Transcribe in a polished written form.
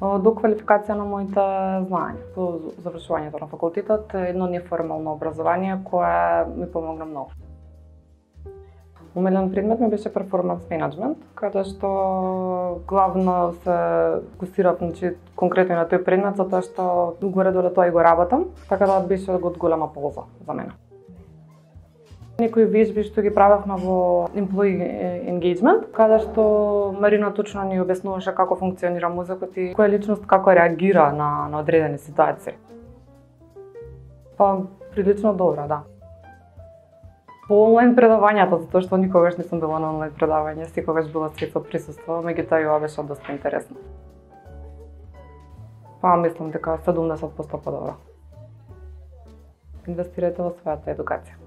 Доквалификација на моите знаења. По завршувањето на факултетот, едно неформално образование кое ми помогна многу. Умелен предмет ми беше перформанс менеджмент, каде што главно се фокусирав, конкретно на тој предмет, затоа што горе-долу тоа и го работам, така да беше од голема полза за мене. Некои вежби што ги правевме во employee engagement, каде што Марина точно ни објаснуваше како функционира мозокот и која личност како реагира на одредени ситуации. Прилично добро, да. По онлайн предавањата, затоа што никогаш не сум била на онлайн предавање, секогаш била свет со присуство, меѓутоа и ова беше доста интересно. Мислам дека 70% подобро. Инвестирајте во својата едукација.